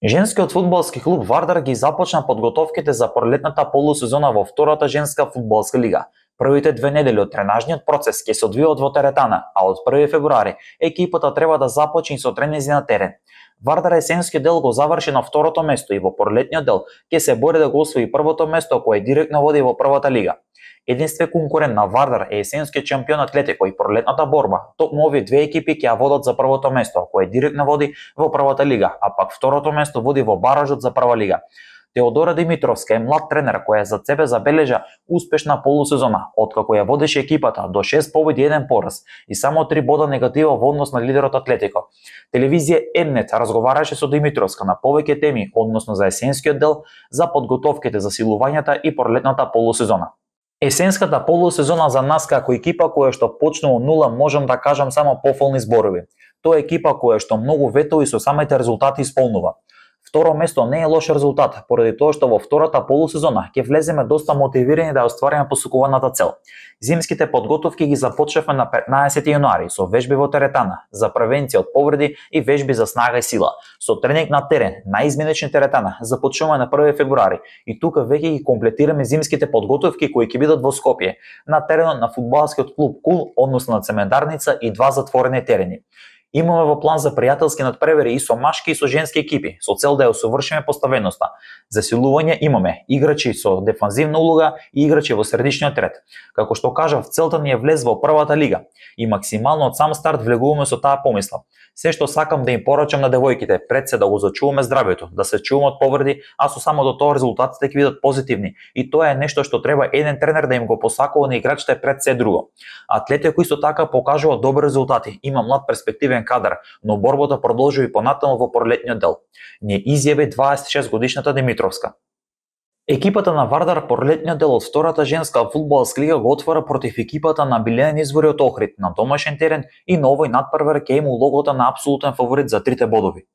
Женскиот фудбалски клуб Вардар ги започна подготовките за пролетната полусезона во втората женска фудбалска лига. Првите 2 недели од тренажниот процес ќе се одвијат во теретана, а од 1 февруари екипата треба да започне со тренинзи на терен. Вардар есенскиот дел го заврши на второто место и во пролетниот дел ќе се бори да го освои првото место кое директно води во првата лига. Единствен конкурент на Вардар е есенскиот шампион Атлетико и пролетната борба. Токму овие две екипи ќе ја водат за првото место, кое директно води во првата лига, а пак второто место води во баражот за прва лига. Теодора Димитровска е млад тренер која за себе забележа успешна полусезона, откако ја водеше екипата до 6 победи и 1 пораз и само 3 бода негатива во однос на лидерот Атлетико. Телевизија М-нет разговараше со Димитровска на повеќе теми односно за есенскиот дел, за подготовките за силувањата и пролетната полусезона. Есенската полусезона за нас како екипа која што почнува од нула можам да кажам само пофални зборови. Тоа е екипа која што многу ветови со самите резултати исполнува. Второ место не е лош резултат, поради тоа што во втората полусезона ќе влеземе доста мотивирани да оствариме посакуваната цел. Зимските подготовки ги започнавме на 15 јануари со вежби во теретана за превенција од повреди и вежби за снага и сила. Со тренинг на терен, наизменечни теретана, започнуваме на 1 февруари и тука веќе ги комплетираме зимските подготовки кои ќе бидат во Скопје, на теренот на фудбалскиот клуб Кул, односно на цемендарница и 2 затворени терени. Имаме во план за пријателски надпревари и со машки и со женски екипи, со цел да ја усовршиме поставеноста. За силување имаме играчи со дефанзивна улога и играчи во средишниот ред. Како што кажав, целта ни е влез во првата лига и максимално од сам старт влегуваме со таа помисла. Се што сакам да им порачам на девојките, пред се да го зачуваме здравјето, да се чуваме од повреди, а со самото тоа резултатите ќе бидат позитивни. И тоа е нешто што треба еден тренер да им го посакува на играчите пред се друго. Атлетико исто така покажува добри резултати, има млад перспективен кадар, но борбата продолжува и понатаму во пролетниот дел. Не изјави 26-годишната Димитровска. Екипата на Вардар пролетниот дел од втората женска фудбалска лига го отвара против екипата на Билени Извори од Охрид на домашен терен и на овој надпревар ќе има улогата на апсолутен фаворит за 3 бодови.